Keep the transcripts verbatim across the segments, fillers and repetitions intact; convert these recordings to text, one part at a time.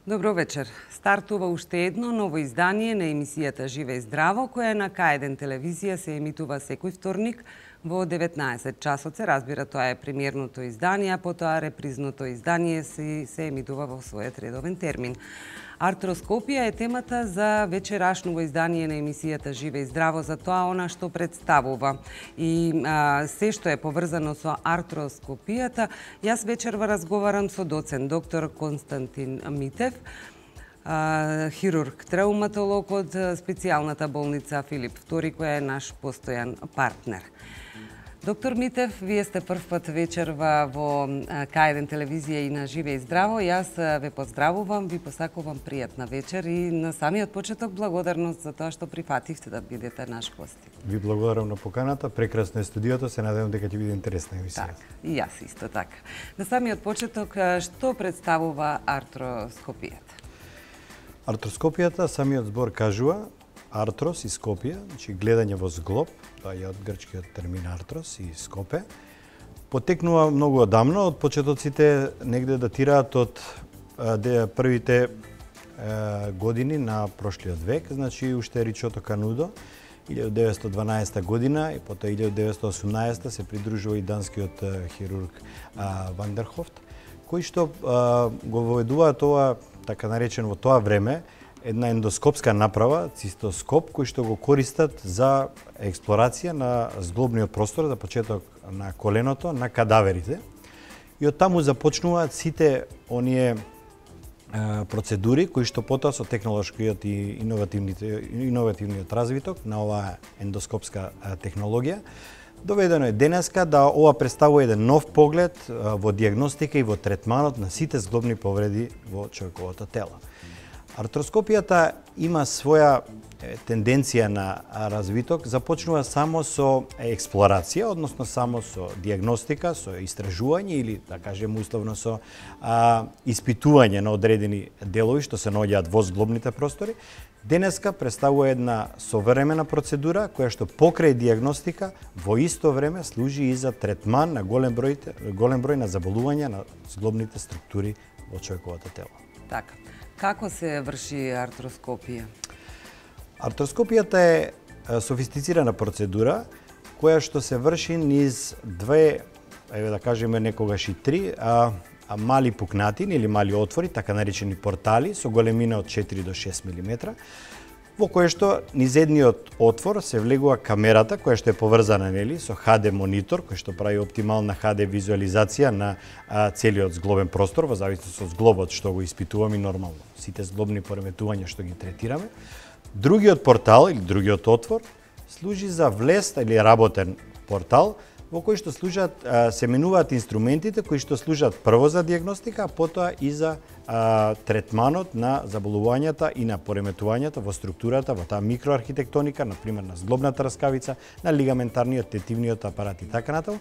Добро вечер. Стартува уште едно ново издание на емисијата Живе и здраво, која на К еден телевизија се емитува секој вторник во деветнаесет часот. Се разбира, тоа е премиерното издание, а потоа репризното издание се, се емитува во својот редовен термин. Артроскопија е темата за вечерашното издание на емисијата Живе и здраво, за тоа она што представува и а, се што е поврзано со артроскопијата. Јас вечерва разговарам со доцент доктор Константин Митев, а, хирург, трауматолог од специјалната болница Филип втори, која е наш постојан партнер. Доктор Митев, вие сте првпат вечерва во К еден телевизија и на Живе и здраво. Јас ве поздравувам, ви посакувам пријатна вечер и на самиот почеток благодарност за тоа што прифативте да бидете наш гост. Ви благодарам на поканата, прекрасно е студиото, се надевам дека ќе биде интересна емисија. Так, и јас исто така. На самиот почеток, што представува артроскопијата? Артроскопијата, самиот збор кажува, артрос и скопија, значи гледање во зглоб, тоа е од грчкиот термин артрос и скопе, потекнува многу одамно, од почетоците негде датираат од де, првите е, години на прошлиот век, значи уште Ричото Канудо, илјадесет деветстотини и дванаесета година и потоа илјадесет деветстотини и осумнаесета се придружува и данскиот хирург а, Вандерхофт, кој што а, го воведува тоа, така наречен во тоа време, една ендоскопска направа, цистоскоп, кој што го користат за експлорација на зглобниот простор, за почеток на коленото, на кадаверите. И од таму започнуваат сите оние е, процедури кои што потоа со технолошкиот и иновативниот развиток на оваа ендоскопска технологија доведено е денеска да ова представува еден нов поглед во дијагностика и во третманот на сите зглобни повреди во човековото тело. Артроскопијата има своја тенденција на развиток, започнува само со експлорација, односно само со дијагностика, со истражување или, да кажем условно, со а, испитување на одредени делови што се наоѓаат во зглобните простори. Денеска представува една современа процедура која што покрај дијагностика во исто време служи и за третман на голем број, голем број на заболувања на зглобните структури во човековото тело. Така. Како се врши артроскопија? Артроскопијата е софистицирана процедура која што се врши низ две, еве да кажеме некогаш и три, а, а мали пукнатини или мали отвори, така наречени портали, со големина од четири до шест милиметра, во кој што низ едниот отвор се влегува камерата која што е поврзана нели со Х Д монитор кој што прави оптимална Х Д визуализација на а, целиот зглобен простор во зависност од зглобот што го испитуваме нормално. Сите зглобни пореметувања што ги третираме. Другиот портал или другиот отвор служи за влез или работен портал во кој што служат, а, се менуваат инструментите кои што служат прво за дијагностика, а потоа и за а, третманот на заболувањата и на пореметувањата во структурата, во таа микроархитектоника, например на зглобната раскавица, на лигаментарниот, тетивниот апарат и така натаму.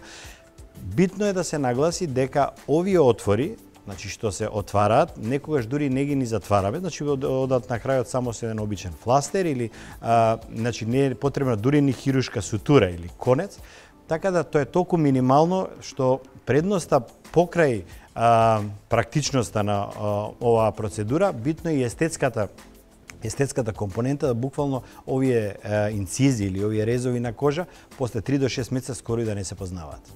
Битно е да се нагласи дека овие отвори, значи што се отвараат, некогаш дури не ги ни затвараме, значи одат на крајот само со еден обичен фластер или а, значи не е потребна дури ни хирушка сутура или конец. Така да тоа е толку минимално што предноста покрај а, практичноста на а, оваа процедура, битно е и естетската естетската компонента, да буквално овие а, инцизии или овие резови на кожа после три до шест месеца скоро и да не се познаваат.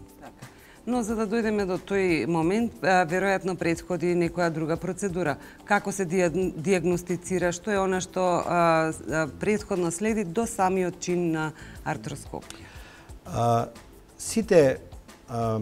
Но за да дојдеме до тој момент, веројатно претходи некоја друга процедура. Како се дијагностицира, што е она што а, претходно следи до самиот чин на артроскопија? А, сите а,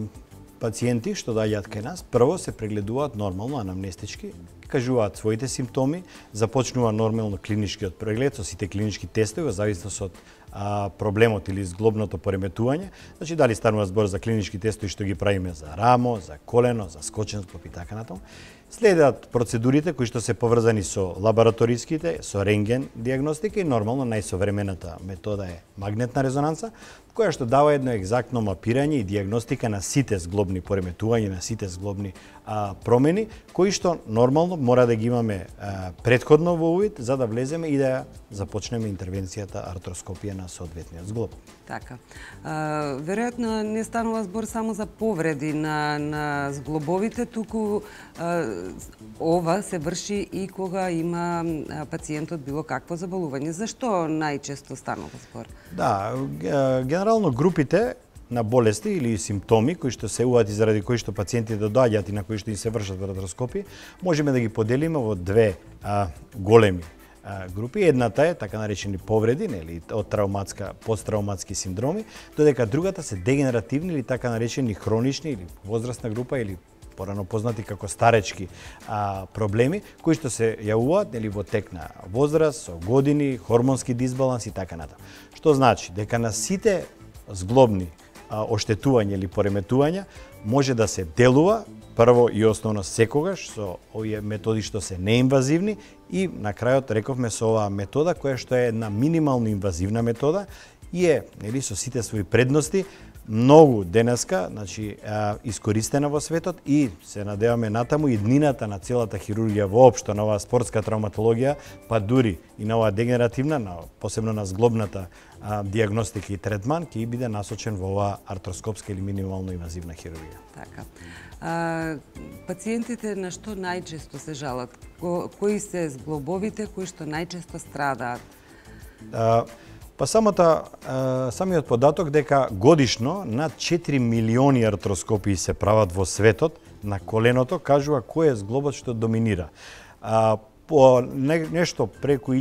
пациенти што доаѓаат кај нас, прво се прегледуваат нормално анамнестички, кажуваат своите симптоми, започнува нормално клиничкиот преглед со сите клинички тестови во зависност од а, проблемот или зглобното пореметување. Значи дали станува збор за клинички тестови што ги правиме за рамо, за колено, за скочен зглоб и така натаму. Следат процедурите кои што се поврзани со лабораториските, со рентген дијагностика и нормално најсовремената метода е магнетна резонанца, која што дава едно екзактно мапирање и дијагностика на сите зглобни пореметувања, на сите зглобни а, промени, кои што нормално мора да ги имаме а, предходно во увид за да влеземе и да започнеме интервенцијата артроскопија на соодветниот зглоб. Така. А, веројатно не станува збор само за повреди на, на зглобовите, туку а, ова се врши и кога има пациентот било какво заболување. Зашто најчесто станува збор? Да, генерално групите на болести или симптоми кои што се јавуваат и заради кои што пациентите доаѓаат и на кои што им се вршат артроскопии, можеме да ги поделиме во две а, големи а, групи. Едната е така наречени повреди, нели, од травматска, посттравматски синдроми, додека другата се дегенеративни или така наречени хронични или возрастна група или порано познати како старечки а, проблеми, кои што се јавуваат нели во тек на возраст, со години, хормонски дисбаланс и така натаму. Што значи дека на сите зглобни оштетување или пореметувања може да се делува прво и основно секогаш со овие методи што се неинвазивни и на крајот рековме со оваа метода која што е една минимално инвазивна метода и е нели со сите своји предности многу денеска, значи искористена во светот и се надеваме натаму и днината на целата хирургија воопшто на оваа спортска травматологија, па дури и на оваа дегенеративна, на, посебно на зглобната а, диагностика и третман ќе биде насочен во оваа артроскопска или минимално инвазивна хирургија. Така. А, пациентите на што најчесто се жалат? Ко, кои се зглобовите кои што најчесто страдаат? А, Па самата, самиот податок дека годишно над четири милиони артроскопии се прават во светот на коленото, кажува кој е зглобот што доминира. По нешто преку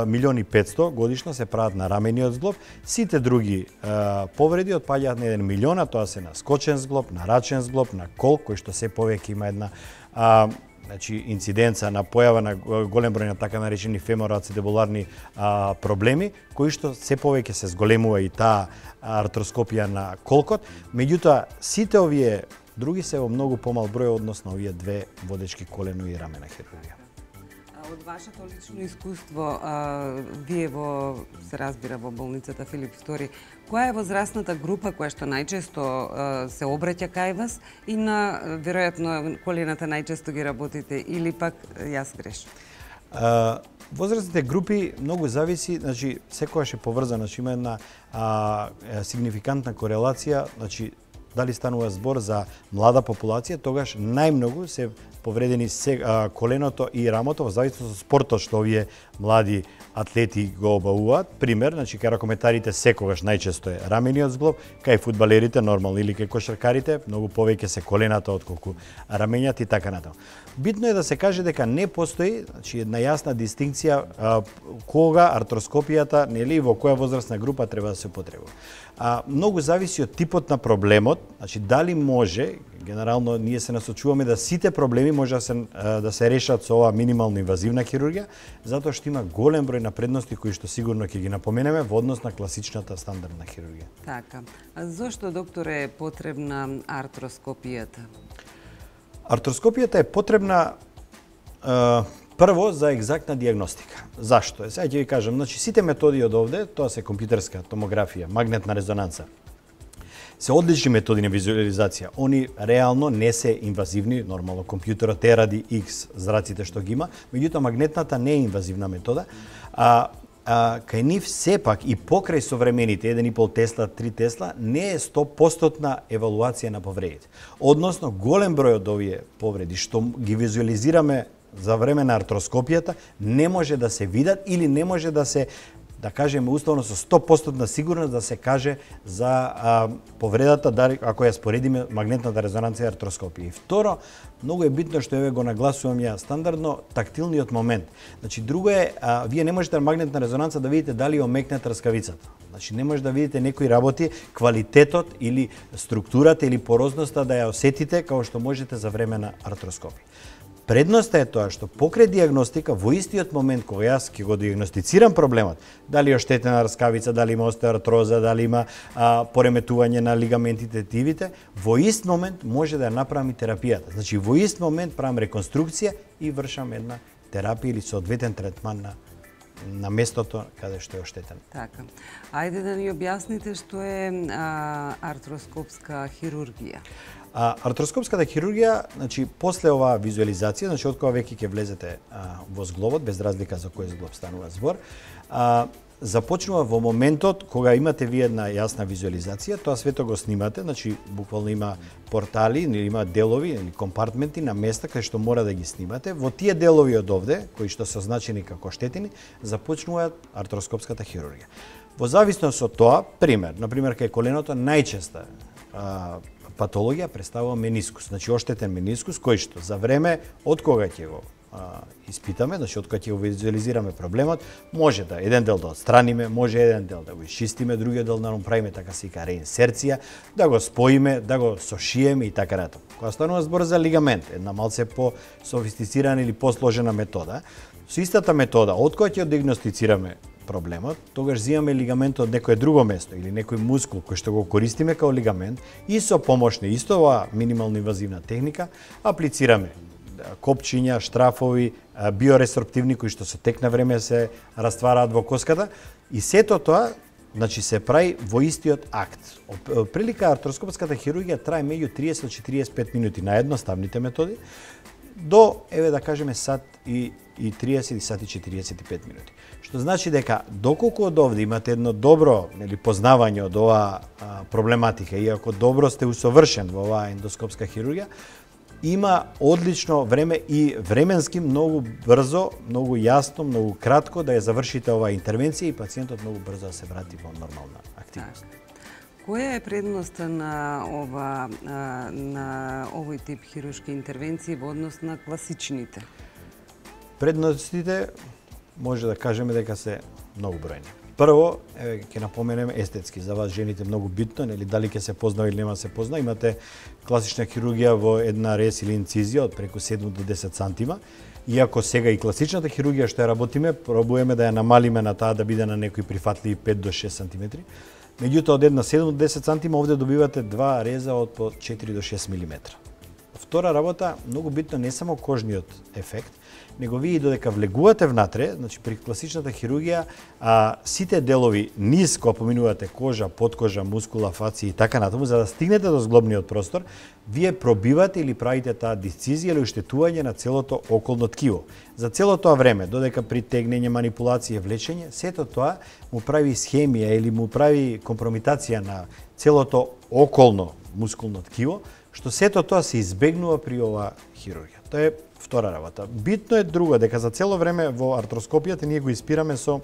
милиони петсто годишно се прават на рамениот зглоб, сите други повреди отпаѓаат на еден милион, а тоа се на скочен зглоб, на рачен зглоб, на кол, кој што се повеќе има една значи инциденца на појава на голем број на така наречени фемороацидебуларни а, проблеми, кои што се повеќе се зголемува и таа артроскопија на колкот, меѓутоа сите овие други се во многу помал број односно овие две водечки колено и рамена хирургија. Од вашето лично искуство, а, вие во, се разбира, во болницата Филип втори, која е возрастната група која што најчесто а, се обраќа кај вас и на, веројатно, колената најчесто ги работите или пак јас грешам? Возрастните групи многу зависи, значи секогаш е поврзано, значи има една а, сигнификантна корелација, значи дали станува збор за млада популација, тогаш најмногу се повредени се, а, коленото и рамото во зависност од спортот што овие млади атлети го обавуваат. Пример, значи кај ракометарите секогаш најчесто е рамениот зглоб, кај фудбалерите нормално или кај кошаркарите многу повеќе се колената отколку рамењата и така натаму. Битно е да се каже дека не постои, значи една јасна дистинкција а, кога артроскопијата, нели, во која возрастна група треба да се употребува. А, многу зависи од типот на проблемот, значи дали може, генерално ние се насочуваме да сите проблеми може да се, да се решат со оваа минимално инвазивна хирургија, затоа што има голем број на предности кои што сигурно ќе ги напоменеме во однос на класичната стандардна хирургија. Така. А зошто, доктор, е потребна артроскопијата? Артроскопијата е потребна е, прво за екзактна диагностика. Зашто? Сега ќе ви кажам, значи сите методи од овде, тоа се компјутерска томографија, магнетна резонанца, се одлични методи на визуализација. Они реално не се инвазивни, нормално компјутерот е ради X зраците што ги има, меѓутоа магнетната не е инвазивна метода, а А, кај нив сепак и покрај современите еден и пол Тесла, три Тесла, не е сто проценти евалуација на повредите. Односно, голем број од овие повреди што ги визуализираме за време на артроскопијата не може да се видат или не може да се, да кажеме уставно со сто проценти сигурност да се каже за а, повредата, дали, ако ја споредиме магнетната резонанција и артроскопија. И второ, многу е битно што еве го нагласувам ја стандардно тактилниот момент. Значи друго е, а, вие не можете на магнетна резонанца да видите дали е омекнат трскавицата. Значи не може да видите некои работи, квалитетот или структурата или порозноста да ја осетите како што можете за време на артроскопија. Предноста е тоа што покрај диагностика во истиот момент кога јас ќе го диагностицирам проблемот, дали е оштетена рскавица, дали има остеоартроза, дали има а, пореметување на лигаментите, тивите, во ист момент може да ја направам и терапијата. Значи во ист момент правам реконструкција и вршам една терапија или соодветен третман на на местото каде што е оштетен. Така. Ајде да ни објасните што е а, артроскопска хирургија. А артроскопската хирургија, значи после оваа визуализација, значи од кога веќе ќе влезете а, во зглобот, без разлика за кој зглоб станува збор, а, започнува во моментот кога имате вие една јасна визуализација, тоа свето го снимате, значи буквално има портали, или има делови или компартменти на места кај што мора да ги снимате. Во тие делови од овде, кои што се означени како штетини, започнува артроскопската хирургија. Во зависност од тоа, пример, на пример кај коленото најчеста а, патологија представува менискус, значи оштетен менискус кој што за време од кога ќе го а, испитаме, значи од кога ќе го визуализираме проблемот, може да еден дел да отстраниме, може еден дел да го исчистиме, другиот дел да го правиме така се ика реинсерција, да го споиме, да го сошиеме и така натаму. Кога станува збор за лигамент, една малце по софистицирана или посложена метода, со истата метода, од кога ќе диагностицираме проблемот, тогаш земаме лигамент од некое друго место или некој мускул кој што го користиме као лигамент и со помош на исто оваа минимално инвазивна техника аплицираме копчиња, штрафови, биоресорптивни кои што со тек на време се раствараат во коската и сето тоа значи се прави во истиот акт. Прилика артроскопската хирургија трае меѓу триесет до четириесет и пет минути на едноставните методи до, еве да кажеме, сат и, и триесет и сат и четириесет и пет минути. Што значи дека доколку од овде имате едно добро нели познавање од оваа проблематика, иако добро сте усовршен во оваа ендоскопска хирургија, има одлично време и временски многу брзо, многу јасно, многу кратко да ја завршите оваа интервенција и пациентот многу брзо да се врати во нормална активност. Која е предноста на ова на овој тип хируршки интервенции во однос на класичните? Предностите може да кажеме дека се многу бројни. Прво, еве ќе напоменеме естетски, за вас жените многу битно, нели дали ќе се познава или нема се познава, имате класична хирургија во една рез или инцизија од преку седум до десет сантима. Иако сега и класичната хирургија што ја работиме, пробуваме да ја намалиме на таа да биде на некои прифатливи пет до шест сантиметри. Меѓутоа од една седум до десет сантима овде добивате два реза од по четири до шест милиметра. Втора работа, многу битно не само кожниот ефект, него вие додека влегувате внатре, значи при класичната хирургија, а, сите делови низ кога поминувате кожа, подкожа, мускула, фаци и така натаму, за да стигнете до зглобниот простор, вие пробивате или правите таа дисцизија или уштетување на целото околно ткиво. За целото тоа време, додека при тегнење, манипулација, влечење, сето тоа му прави исхемија или му прави компромитација на целото околно мускулно ткиво, што сето тоа се избегнува при оваа хирургија. Тоа е втора работа. Битно е друго, дека за цело време во артроскопијата ние го испираме со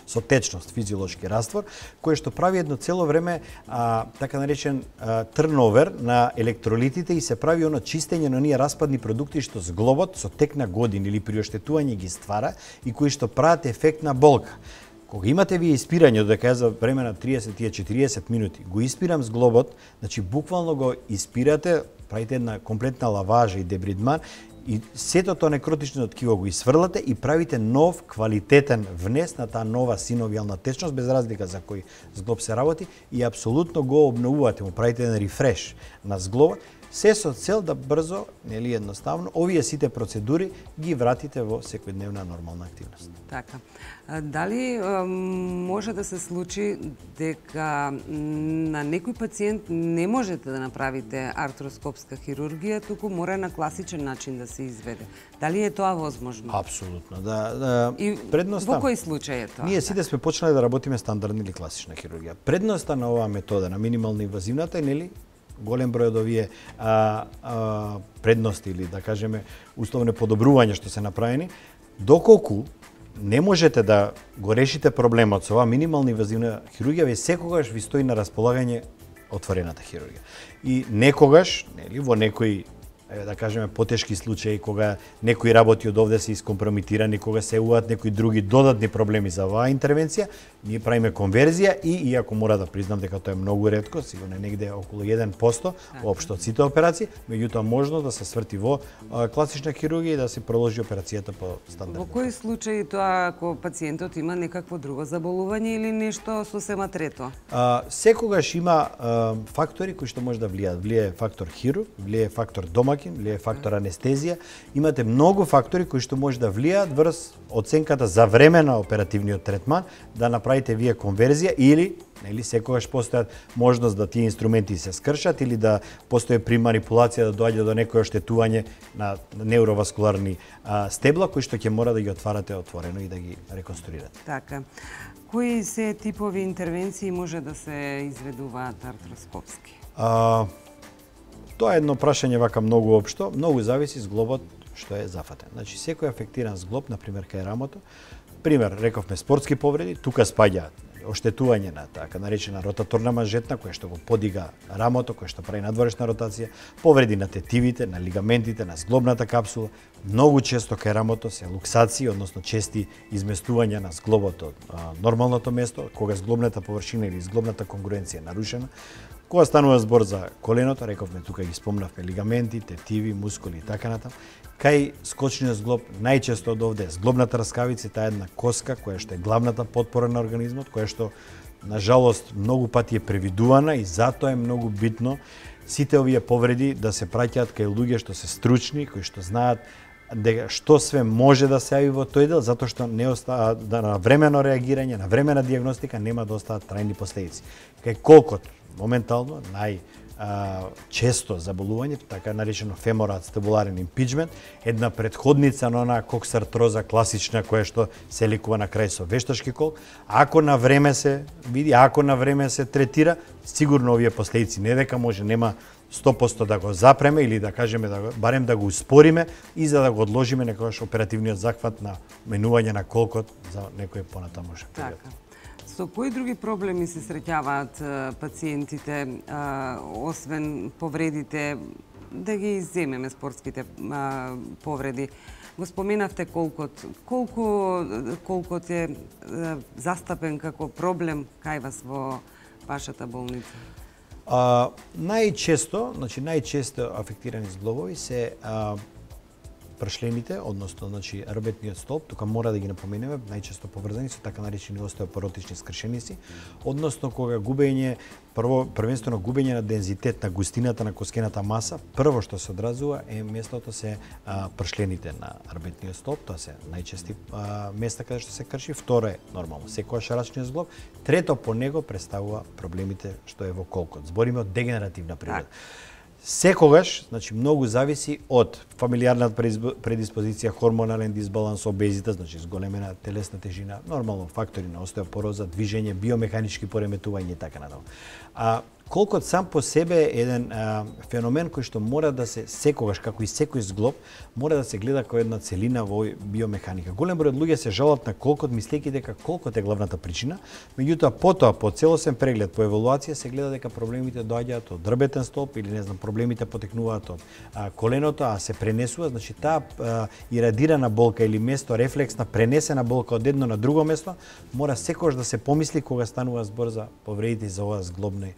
со течност, физиолошки раствор, кој што прави едно цело време а, така наречен а, трновер на електролитите и се прави оно чистење на оние распадни продукти што зглобот со тек на години или при оштетување ги ствара и кои што прават ефект на болка. Кога имате вие испирање, додека ја за време на триесет до четириесет минути, го испирам зглобот, значи буквално го испирате, правите една комплетна лаважа и дебридман, и сето тоа некротично ткиво го исфрлате и правите нов квалитетен внес на таа нова синовијална течност, без разлика за кој зглоб се работи, и апсолутно го обновувате, му правите еден рефреш на зглобот, се со цел да брзо, нели едноставно, овие сите процедури ги вратите во секојдневна нормална активност. Така. Дали може да се случи дека на некој пациент не можете да направите артроскопска хирургија, туку мора на класичен начин да се изведе? Дали е тоа возможно? Апсолутно, да. да И предноста, во кој случај е тоа? Ние сите сме почнале да работиме стандардна или класична хирургија. Предноста на оваа метода, на минимално инвазивната, е, нели, голем број од овие а, а, предности или да кажеме условно подобрувања што се направени, доколку не можете да го решите проблемот со оваа минимална инвазивна хирургија, ве секогаш ви стои на располагање отворената хирургија. И некогаш, нели, во некои да кажеме потешки случаи кога некои работи од овде се искомпромитирани, кога се јавуваат некои други додатни проблеми за оваа интервенција, ние правиме конверзија и иако мора да признам дека тоа е многу ретко, сигурно негде околу еден процент општо од сите операции, меѓутоа можно да се сврти во а, класична хирургија и да се продолжи операцијата по стандард. Во кои случаи тоа ако пациентот има некакво друго заболување или нешто сосема трето? А, секогаш има а, фактори кои што може да влијаат. Влијае фактор хирург, влијае фактор домаќин домакин, влијае фактор анестезија. Имате многу фактори кои што може да влијаат врз оценката за време на оперативниот третман, да направите вие конверзија или нели секогаш постојат можност да тие инструменти се скршат или да постои при манипулација да доаѓа до некое оштетување на неуроваскуларни а, стебла кои што ќе мора да ги отварате отворено и да ги реконструирате. Така. Кои се типови интервенции може да се изведуваат артроскопски? А, тоа е едно прашање вака многу општо, многу зависи зглобот што е зафатен. Значи секој афектиран зглоб, на пример кај рамото, пример рековме спортски повреди, тука спаѓаат оштетување на така наречена ротаторна манжетна која што го подига рамото, која што прави надворешна ротација, повреди на тетивите, на лигаментите, на зглобната капсула. Многу често кај рамото се луксации, односно чести изместувања на зглобот од а, нормалното место, кога зглобната површина или зглобната конгруенција е нарушена. Кога станува збор за коленото, рековме тука ги спомнавме лигаменти, тетиви, мускули и така натаму. Кај скочниот зглоб најчесто од овде зглобната раскавица, таа една коска која што е главната потпора на организмот, која што на жалост многу пати е превидувана и затоа е многу битно сите овие повреди да се праќаат кај луѓе што се стручни, кои што знаат дека што све може да се јави во тој дел, затоа што не остава да на времено реагирање, на времена дијагностика нема да остават трајни последици. Кај колкот моментално нај а, често заболување, така наречено феморат стабуларен импичмент, една предходница на онаа коксартроза класична која што се лекува на крај со вештачки колк, ако на време се види, ако на време се третира, сигурно овие последици не дека може нема сто проценти да го запреме или да кажеме да барем да го успориме и за да го одложиме некогаш оперативниот захват на менување на колкот за некој понатамошен период. Така. Со кои други проблеми се среќаваат пациентите, а, освен повредите, да ги изземеме спортските а, повреди? Го споменавте колкот. Колку колкот е а, застапен како проблем кај вас во вашата болница? А, најчесто, значи најчесто афектирани зглобови се а, прашлените, односно значи работниот столб, тука мора да ги напоменеме, најчесто поврзани со така наречени остеопоротични скршеници, односно кога губење, прво првенствено губење на дензитет на густината на коскената маса, прво што се одразува е местото се а, прашлените на работниот столб, тоа се најчести а, места каде што се крши, второ е нормално секојаш рачниот зглоб, трето по него представува проблемите што е во колкот. Збориме од дегенеративна природа. Секогаш, значи многу зависи од фамилијарната предиспозиција, хормонален дисбаланс, обезита, значи зголемена телесна тежина, нормално фактори на остеопороза, движење, биомеханички пореметувања и така натаму. А колкот сам по себе е еден а, феномен кој што мора да се секогаш, како и секој зглоб, мора да се гледа како една целина во биомеханика. Голем број од луѓе се жалат на колкот, мислејќи дека колкот е главната причина, меѓутоа потоа по целосен преглед, по евалуација се гледа дека проблемите доаѓаат од дрбетен столб или не знам, проблемите потекнуваат од а, коленото, а се пренесува, значи таа а, ирадирана болка или место рефлексна пренесена болка од едно на друго место, мора секогаш да се помисли кога станува збор за повредите за ова зглобни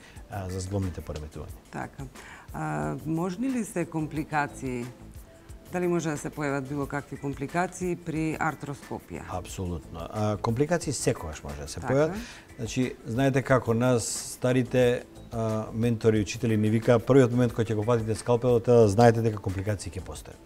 за зглобните пореметувања. Така. А, можни ли се компликации? Дали може да се појават било какви компликации при артроскопија? Апсолутно. А, компликации секогаш може да се така. појават. Значи, знаете како нас старите а, ментори, учители ни вика првиот момент кога ќе го фатите скалпелот, да знаете дека компликации ќе постојат.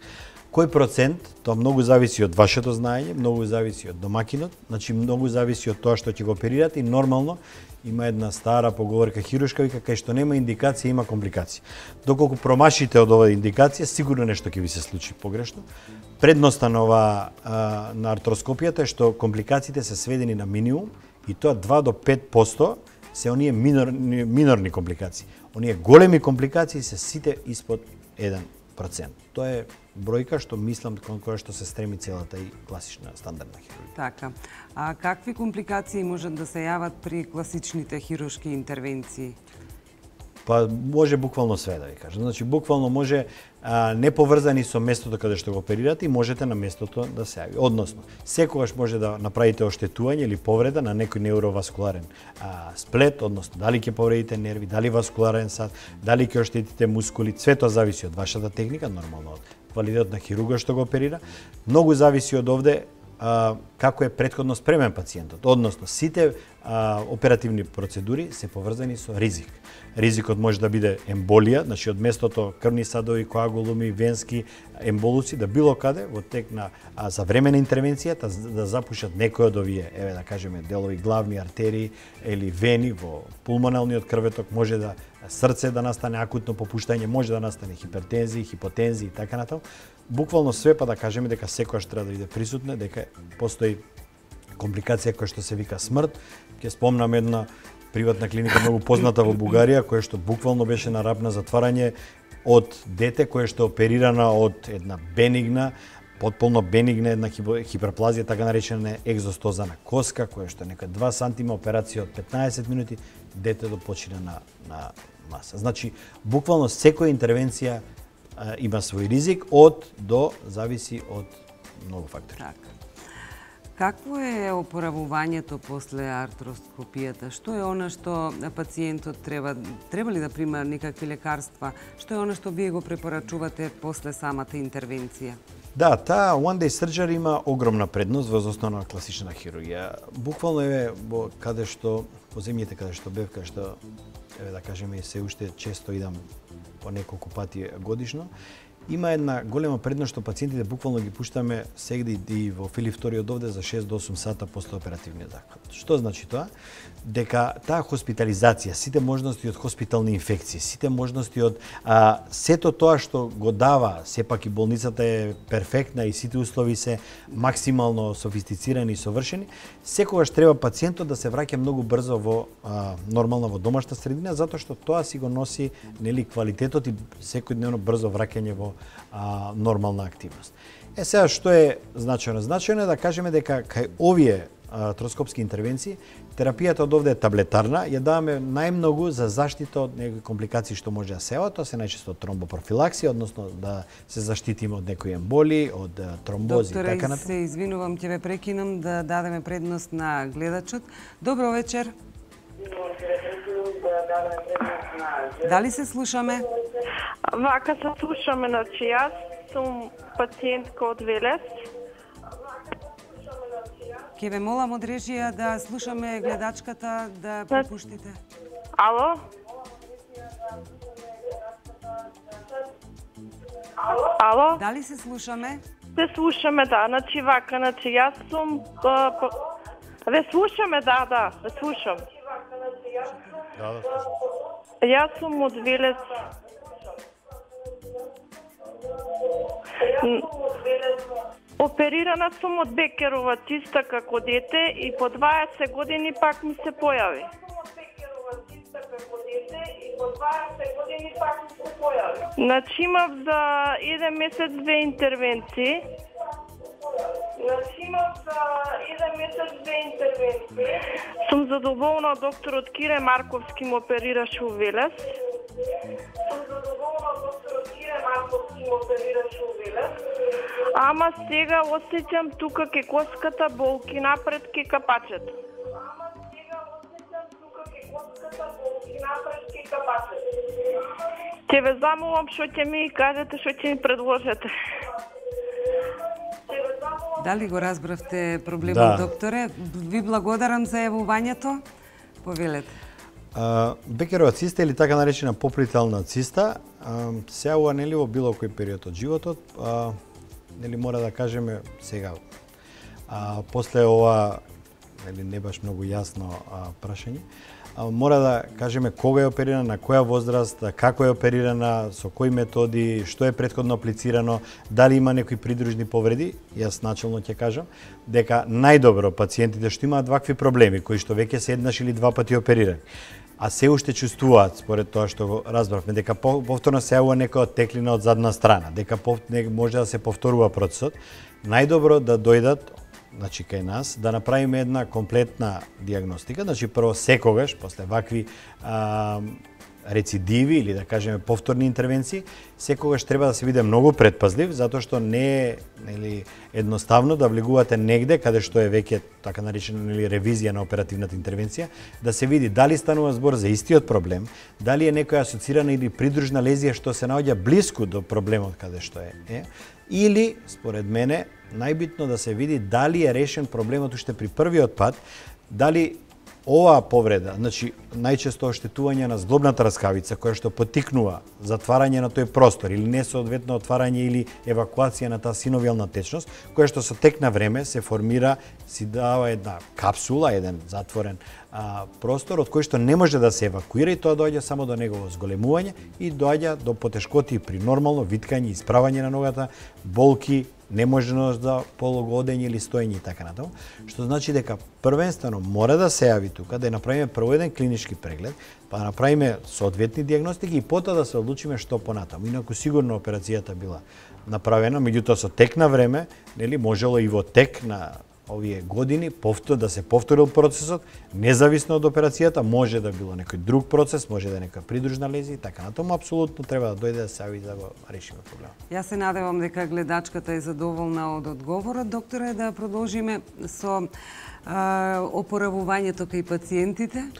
Кој процент, тоа многу зависи од вашето знаење, многу зависи од домакинот, значи многу зависи од тоа што ќе го оперирате и нормално има една стара поговорка хируршка, вика кај што нема индикација има компликација. Доколку промашите од оваа индикација, сигурно нешто ќе ви се случи погрешно. Предноста на ова а, на артроскопијата е што компликациите се сведени на минимум и тоа два до пет проценти се оние минорни, минорни компликации. Оние големи компликации се сите испод еден процент. Тоа е бројка што мислам кон која што се стреми целата и класична стандардна хирургија. Така. А какви компликации можат да се јават при класичните хируршки интервенции? Па може буквално све да ви кажам. Значи буквално може а, не поврзани со местото каде што го оперирате и можете на местото да се јави. Односно, секогаш може да направите оштетување или повреда на некој неуроваскуларен а, сплет, односно дали ќе повредите нерви, дали васкуларен сад, дали ќе оштетите мускули, све тоа зависи од вашата техника, нормално од квалитетот на хирургот што го оперира. Многу зависи од овде а, како е претходно спремен пациентот. Односно, сите а, оперативни процедури се поврзани со ризик. Ризикот може да биде емболија, значи од местото крвни садови, коагулуми, венски емболуци, да било каде во тек на а, за време на интервенцијата да запушат некој од овие, еве да кажеме, делови главни артерии или вени во пулмоналниот крветок, може да срце да настане акутно попуштање, може да настане хипертензија, хипотензија и така натаму. Буквално све, па да кажеме дека секојаш треба да биде присутна, дека постои компликација која што се вика смрт. Ќе спомнам една приватна клиника многу позната во Бугарија, која што буквално беше на рап на затварање од дете кое што е оперирана од една бенигна, потполно бенигна една хиперплазија, така наречена екзостозана коска, која што е нека два сантима, операција од петнаесет минути, детето почина на, на маса. Значи, буквално секоја интервенција а, има свој ризик, од до зависи од многу фактори. Така. Какво е опоравувањето после артроскопијата? Што е она што пациентот треба, треба ли да прима некакви лекарства? Што е она што вие го препорачувате после самата интервенција? Да, таа one day surgery има огромна предност во основна класична хирургија. Буквално е во каде што по земјите каде што бев, каде што еве да кажеме се уште често идам по неколку пати годишно. Има една голема предност што пациентите буквално ги пуштаме сегде и во Филип втори од овде за шест до осум сата после оперативниот захват. Што значи тоа? Дека таа хоспитализација, сите можности од хоспитални инфекции, сите можности од а, сето тоа што го дава, сепак и болницата е перфектна и сите услови се максимално софистицирани и совршени, секогаш треба пациентот да се враќа многу брзо во а, нормална во домашна средина, затоа што тоа си го носи нели квалитетот и секојдневно брзо враќање во а, нормална активност. Е сега што е значајно? Значајно е да кажеме дека кај овие артроскопски интервенции, терапијата од овде е таблетарна, ја даваме најмногу за заштита од некои компликации што може да се јават, тоа се најчесто тромбопрофилаксија, односно да се заштитиме од некои емболи, од тромбози Докторе, и така натаму. се извинувам, ќе ве прекинам да дадеме предност на гледачот. Добро вечер. Дали се слушаме? Вака се слушаме, значи јас сум пациентка од Велес. Ке ве молам од режија да слушаме гледачката, да пропуштите. Ало? Ало? Дали се слушаме? Се слушаме, да. Значи вака, значи јас сум... а, па... Ве слушаме, да, да, ве слушам. Да, да, слушам. Јас сум од Велес. Оперирана сум од Бекерова циста како дете и по дваесет години пак ми се појави. Значи имав за еден месец две интервенции. Значи имав за еден месец две интервенции. Сум задоволна од докторот Кире Марковски ме оперираше у Велес. Сум задоволна од докторот Кире Марковски ме оперираше у Велес. Ама сега осеќам тука ке коската болки напред ке капачето. Ама сега осеќам тука ке коската болки напред ке капачето. Ќе ве замолам што ќе ми кажете, што ќе ми предложите. Дали го разбравте проблемот, Да. докторе? Ви благодарам за јавувањето. Повелете. А, Бекерова циста или така наречена поплителна циста се јавува нели во било кој период од животот, а, нели мора да кажеме сега. А, после ова нели не баш многу јасно а, прашање, а, мора да кажеме кога е оперирана, на која возраст, како е оперирана, со кои методи, што е претходно аплицирано, дали има некои придружни повреди. Јас начелно ќе кажам дека најдобро пациентите што имаат вакви проблеми, кои што веќе се еднаш или два пати оперирани, а се уште чувствуваат, според тоа што го разбравме, дека повторно се јавува некоја теклина од задна страна, дека може да се повторува процесот, најдобро да дојдат, значи кај нас, да направиме една комплетна диагностика, значи прво секогаш, после вакви а, рецидиви или да кажеме повторни интервенции, секогаш треба да се биде многу предпазлив, затоа што не е нели едноставно да влегувате негде каде што е веќе така наречена нели ревизија на оперативната интервенција, да се види дали станува збор за истиот проблем, дали е некоја асоцирана или придружна лезија што се наоѓа блиску до проблемот каде што е, е или според мене најбитно да се види дали е решен проблемот уште при првиот пат, дали оваа повреда, значи најчесто оштетување на зглобната раскавица која што поттикнува затварање на тој простор или несоодветно отварање или евакуација на таа синовијална течност, која што со тек на време се формира, си дава една капсула, еден затворен а, простор од кој што не може да се евакуира и тоа доаѓа само до негово зголемување и доаѓа до потешкоти при нормално виткање, исправање на ногата, болки, неможност за полугодење или стоење и така натаму, што значи дека првенствено мора да се јави тука, да направиме прво еден клинички преглед, па да направиме соодветни диагностики и потоа да се одлучиме што понатаму. Инаку сигурно операцијата била направена, меѓутоа со тек на време, нели можело и во тек на овие години повтор да се повторил процесот, независно од операцијата, може да било некој друг процес, може да е нека придружна лезија и така натаму, апсолутно треба да дојде да се јави да го решиме проблемот. Јас се надевам дека гледачката е задоволна од одговорот. Докторе, да продолжиме со а, опоравувањето кај пациентите.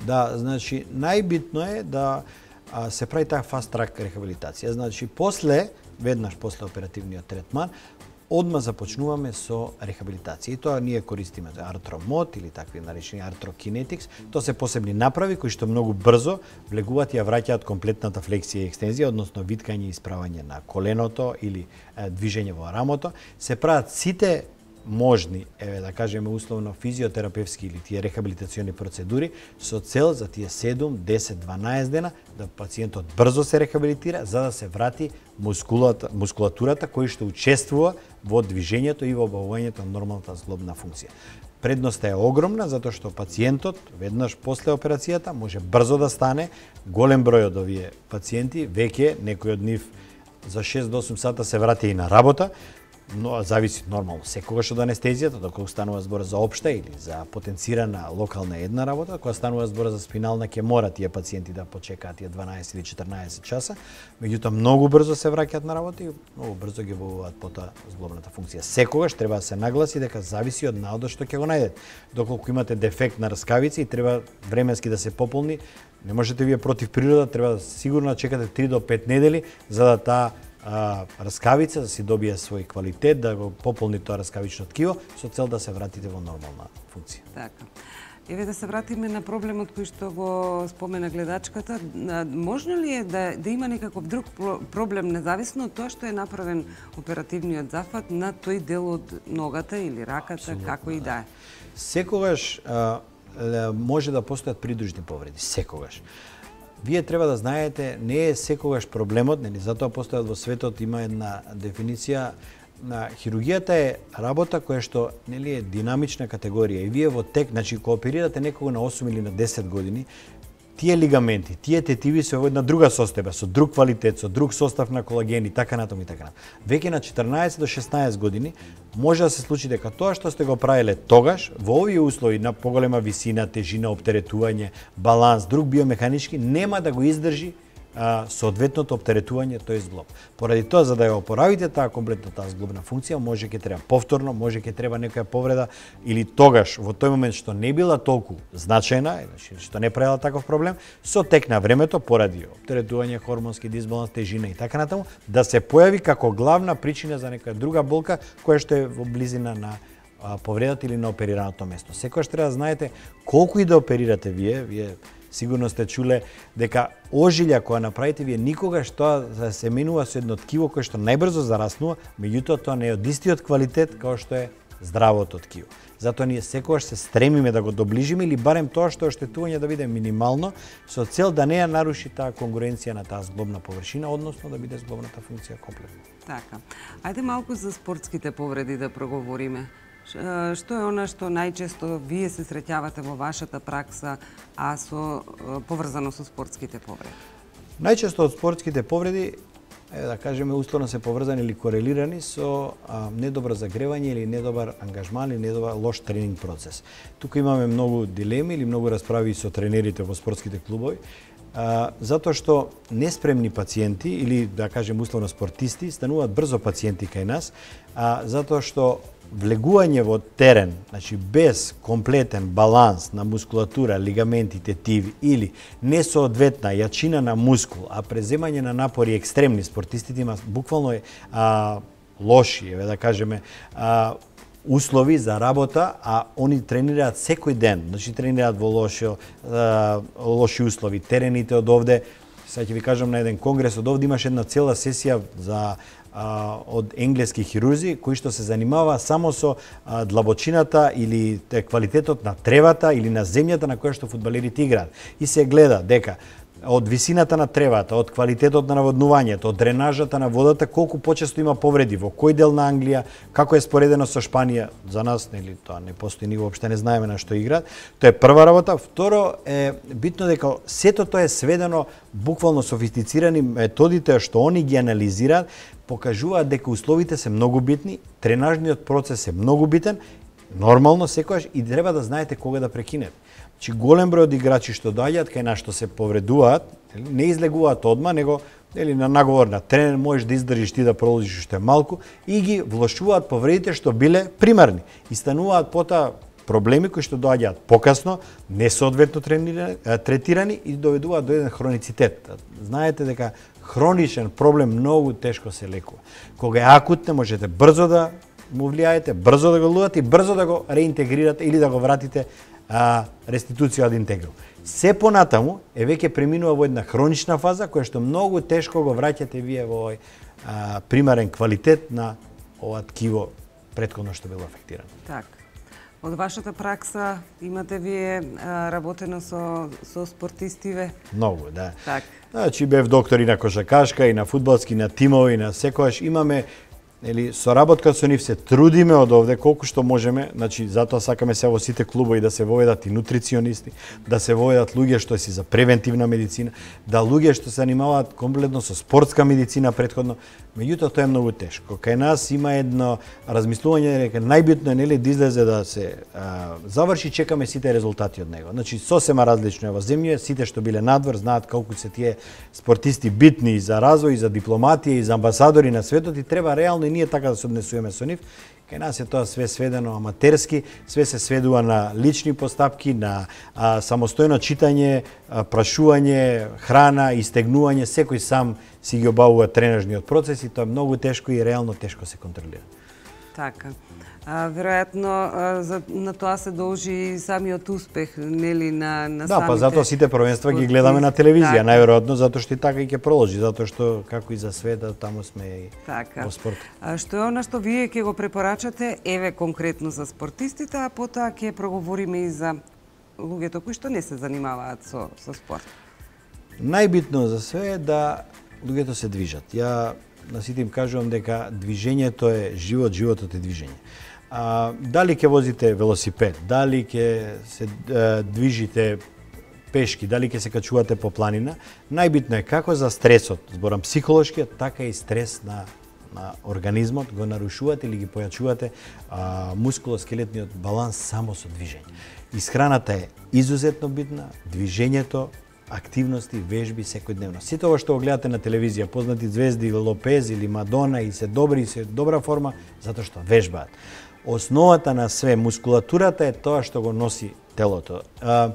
Да, значи најбитно е да а, се прави таа фаст трак рехабилитација. Значи после, веднаш после оперативниот третман, одма започнуваме со рехабилитација. И тоа ние користиме за артромод или такви наречени артрокинетикс. Тоа се посебни направи кои што многу брзо влегуваат и ја враќаат комплетната флексија и екстензија, односно виткање и исправање на коленото или е, движење во рамото. Се прават сите можни, еве да кажеме условно физиотерапевски или тие рехабилитациони процедури со цел за тие седум, десет, дванаесет дена да пациентот брзо се рехабилитира за да се врати мускулата, мускулатурата која што учествува во движењето и во обавувањето на нормалната зглобна функција. Предноста е огромна затоа што пациентот веднаш после операцијата може брзо да стане. Голем број од овие пациенти веќе некој од нив за шест до осум сата се врати и на работа. Но зависи нормално секогаш од анестезијата, доколку станува збор за општа или за потенцирана локална една работа, кога станува збор за спинална, ќе мора тие пациенти да почекаат тие дванаесет или четрнаесет часа, меѓутоа многу брзо се враќаат на работа и многу брзо ги обавуваат потоа зглобната функција. Секогаш треба да се нагласи дека зависи од наодот што ќе го најдете. Доколку имате дефект на раскавица и треба временски да се пополни, не можете вие против природа, треба сигурно да чекате три до пет недели за да таа А, раскавица да си добие свој квалитет, да го пополни тоа раскавично ткиво со цел да се вратите во нормална функција. Така. Еве да се вратиме на проблемот кој што го спомена гледачката. Можно ли е да, да има некаков друг проблем независно од тоа што е направен оперативниот зафат на тој дел од ногата или раката, абсолютно, како и да е? Секогаш а, може да постојат придружни повреди, секогаш. Вие треба да знаете, не е секогаш проблемот, нели затоа постојат во светот има една дефиниција на хирургијата е работа која што нели е динамична категорија и вие во тек, значи кога оперирате некого на осум или на десет години, тие лигаменти, тие тетиви се во една друга состојба, со друг квалитет, со друг состав на колаген и така натаму и така натаму. Веќе на четрнаесет до шеснаесет години може да се случи дека тоа што сте го правеле тогаш, во овие услови на поголема висина, тежина, оптеретување, баланс, друг биомеханички, нема да го издржи а, соодветното оптеретување тој зглоб. Поради тоа, за да ја опоравите таа комплетно таа зглобна функција, може ќе треба повторно, може ќе треба некоја повреда или тогаш во тој момент што не била толку значајна, значи што не правила таков проблем, со тек на времето поради оптеретување, хормонски дисбаланс, тежина и така натаму, да се појави како главна причина за некоја друга болка која што е во близина на повредата или на оперираното место. Секогаш треба да знаете колку и да оперирате вие, вие сигурно сте чуле дека ожилја која направите вие никогаш тоа се менува со едно ткиво кое што најбрзо зараснува, меѓутоа тоа не е од истиот квалитет како што е здравото ткиво. Затоа ние секогаш се стремиме да го доближиме или барем тоа што е оштетување да биде минимално со цел да не ја наруши таа конгруенција на таа зглобна површина, односно да биде зглобната функција комплетна. Така. Ајде малку за спортските повреди да проговориме. Што е она што најчесто вие се среќавате во вашата пракса, а со поврзано со спортските повреди? Најчесто од спортските повреди, е, да кажеме, условно се поврзани или корелирани со а, недобро загревање или недобар ангажман или недобар лош тренинг процес. Тука имаме многу дилеми или многу расправи со тренерите во спортските клубови. А, затоа што неспремни пациенти или да кажем условно спортисти стануваат брзо пациенти кај нас, а затоа што влегување во терен, значи без комплетен баланс на мускулатура, лигаменти, тетиви или несоодветна јачина на мускул, а преземање на напори екстремни, спортистите има буквално а, лоши, еве да кажеме, а, услови за работа, а они тренираат секој ден, значи тренираат во лоши, а, лоши услови. Терените од овде, сега ќе ви кажам на еден конгрес, од овде имаш една цела сесија за а, од енглески хирурзи кои што се занимава само со а, длабочината или те, квалитетот на тревата или на земјата на која што фудбалерите играат. И се гледа дека од висината на тревата, од квалитетот на наводнувањето, од дренажата на водата, колку почесто има повреди, во кој дел на Англија, како е споредено со Шпанија. За нас, нели, тоа не постои, ни воопште не знаеме на што играат. Тоа е прва работа. Второ е битно дека сето тоа е сведено буквално софистицирани методите што они ги анализираат, покажуваат дека условите се многу битни, тренажниот процес е многу битен, нормално секогаш и треба да знаете кога да прекинете. Чи голем број од играчи што доаѓаат кај нас што се повредуваат, не излегуваат одма, него или на наговор на тренер можеш да издржиш ти да продолжиш уште малку и ги влошуваат повредите што биле примарни и стануваат потоа проблеми кои што доаѓаат покасно, несоодветно третирани и доведуваат до еден хроницитет. Знаете дека хроничен проблем многу тешко се лекува. Кога е акутно можете брзо да му влијаете, брзо да го лудате и брзо да го реинтегрирате или да го вратите а, реституција од интегрум. Се понатаму е веќе преминува во една хронична фаза која што многу тешко го враќате вие во овој а, примарен квалитет на ова ткиво претходно што било афектирано. Так. Од вашата пракса имате вие а, работено со со спортистиве? Многу, да. Так. Значи бев доктор и на кошакашка, и на фудбалски, и на тимови, и на секојаш имаме Нели, соработка со нив се трудиме од овде колку што можеме, значи затоа сакаме се во сите клубови да се воведат и нутриционисти, да се воведат луѓе што си за превентивна медицина, да луѓе што се занимаваат комплетно со спортска медицина претходно, меѓутоа тоа е многу тешко. Кај нас има едно размислување дека најбитно е нели да излезе да се а, заврши, чекаме сите резултати од него. Значи сосема различно е во земја, сите што биле надвор знаат колку се тие спортисти битни и за развој, и за дипломатија, и за амбасадори на светот и треба реално и ние така да се однесуваме со нив. Кај нас е тоа све сведено аматерски, све се сведува на лични постапки, на а, самостојно читање, а, прашување, храна, истегнување, секој сам си ги обавува тренажниот процес и тоа е многу тешко и реално тешко се контролира. Така. А, веројатно а, за, на тоа се должи и самиот успех, нели, на, на да, самите... па затоа сите првенства ги гледаме на телевизија, така. Најверојатно затоа што и така и ќе продолжи, затоа што како и за света таму сме и така. во спорт. А, што е она што вие ќе го препорачате, еве конкретно за спортистите, а потоа ќе проговориме и за луѓето кои што не се занимаваат со, со спорт. Најбитно за све е да луѓето се движат. Ја на сите им кажувам дека движењето е живот, животот е движење. А, дали ќе возите велосипед, дали ќе се е, движите пешки, дали ќе се качувате по планина, најбитно е како за стресот, зборам психолошкиот, така и стрес на на организмот го нарушувате или ги појачувате а, мускулоскелетниот баланс само со движење. Исхраната е изузетно битна, движењето, активности, вежби секојдневно. Сите ова што го гледате на телевизија, познати звезди, Лопез или Мадона и се добри и се добра форма затоа што вежбаат. Основата на све, мускулатурата е тоа што го носи телото. А,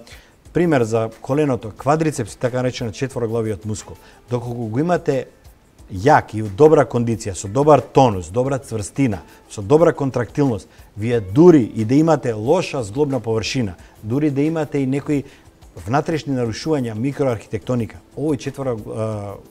пример за коленото, квадрицепс, така наречена четвороглавиот мускул. Доколку го имате јак и у добра кондиција, со добар тонус, добра цврстина, со добра контрактилност, вие дури и да имате лоша зглобна површина, дури да имате и некои внатрешни нарушувања, микроархитектоника, овој четвор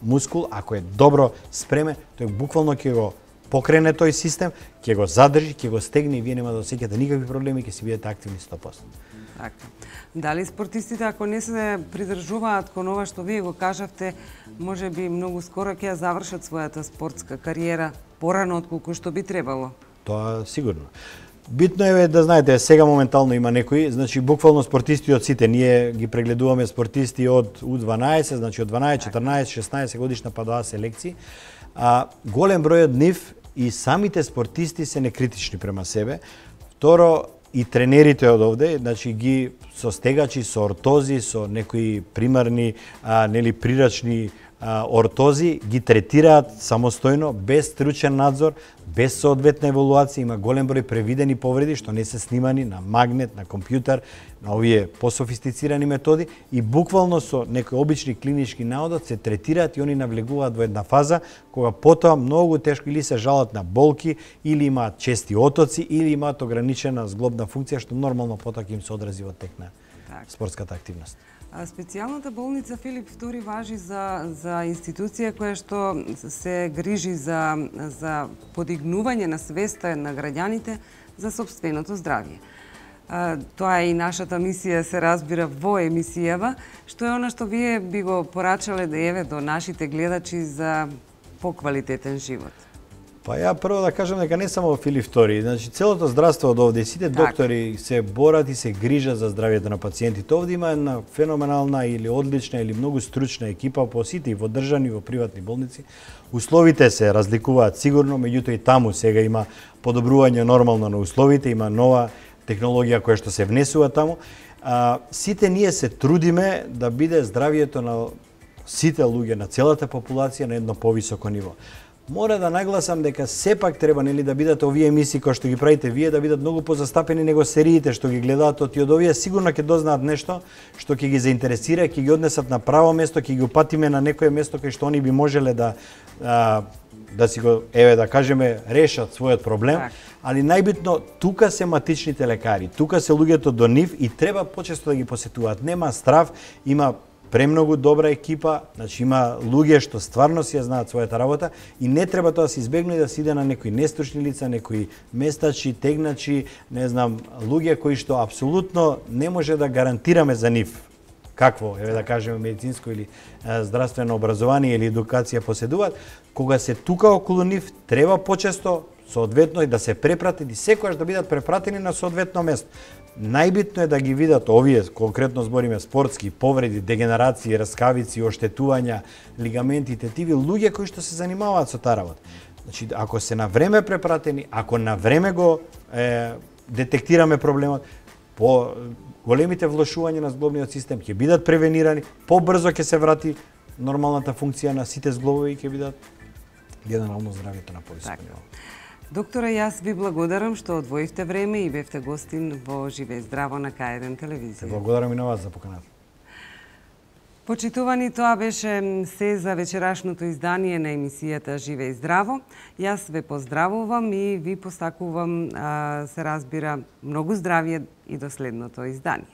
мускул, ако е добро спремен, тој буквално ќе го покрене тој систем, ќе го задржи, ќе го стегне и вие нема да осеќате никакви проблеми, ќе си бидете активни сто проценти. Така. Дали спортистите, ако не се придржуваат кон ова што вие го кажавте, може би многу скоро ќе ја завршат својата спортска кариера порано отколку што би требало? Тоа сигурно. Битно е да знаете, сега моментално има некои, значи буквално спортисти од сите, ние ги прегледуваме спортисти од У дванаесет, значи од дванаесет, четрнаесет, шеснаесет годишна па до А селекција. А голем број од нив и самите спортисти се некритични према себе. Второ, и тренерите од овде, значи ги со стегачи, со ортози, со некои примарни, а, нели прирачни а, ортози, ги третираат самостојно, без стручен надзор, без соодветна евалуација, има голем број превидени повреди што не се снимани на магнет, на компјутер, на овие пософистицирани методи и буквално со некои обични клинички наодот се третираат и они навлегуваат во една фаза кога потоа многу тешко или се жалат на болки, или имаат чести отоци, или имаат ограничена зглобна функција што нормално потоа ќе им се одрази во тек на Так. спортската активност. А специјалната болница Филип Втори важи за, за институција која што се грижи за, за подигнување на свеста на граѓаните за собственото здравје. А, тоа е и нашата мисија, се разбира, во емисијава, што е она што вие би го порачале да еве до нашите гледачи за поквалитетен живот. Па ја прво да кажам дека не само Филип Втори, значи целото здравство од овде, сите Так. доктори се борат и се грижат за здравјето на пациентите. Овде има една феноменална или одлична или многу стручна екипа по сите и во државни и во приватни болници. Условите се разликуваат сигурно, меѓутоа и таму сега има подобрување нормално на условите, има нова технологија која што се внесува таму. А, сите ние се трудиме да биде здравјето на сите луѓе, на целата популација на едно повисоко ниво. Мора да нагласам дека сепак треба нели да бидат овие емисии кои што ги правите вие да бидат многу позастапени него сериите што ги гледаат, од од овие сигурно ќе дознаат нешто што ќе ги заинтересира, ќе ги однесат на право место, ќе ги упатиме на некое место кај што они би можеле да а, да си го еве да кажеме решат својот проблем, Так. али најбитно тука се матичните лекари, тука се луѓето до нив и треба почесто да ги посетуваат. Нема страв, има премногу добра екипа, значи има луѓе што стварно си ја знаат својата работа и не треба тоа да се избегне да се иде на некои нестручни лица, некои местачи, тегначи, не знам, луѓе кои што апсолутно не може да гарантираме за нив какво, еве да кажеме медицинско или е, здравствено образование или едукација поседуваат, кога се тука околу нив треба почесто соодветно и да се препратени и секогаш да бидат препратени на соодветно место. Најбитно е да ги видат овие, конкретно збориме спортски повреди, дегенерации, раскавици, оштетувања, лигаменти, тетиви, луѓе кои што се занимаваат со таа работа. Значи, ако се на време препратени, ако на време го е, детектираме проблемот, по големите влошувања на зглобниот систем ќе бидат превенирани, побрзо ќе се врати нормалната функција на сите зглобови и ќе бидат генерално здравјето на повисоко ниво. Доктора, јас ви благодарам што одвоивте време и бевте гостин во Живе и здраво на К еден телевизија. Благодарам и на вас за поканата. Почитувани, тоа беше се за вечерашното издание на емисијата Живе и здраво. Јас ве поздравувам и ви постакувам, а, се разбира, многу здравје и до следното издание.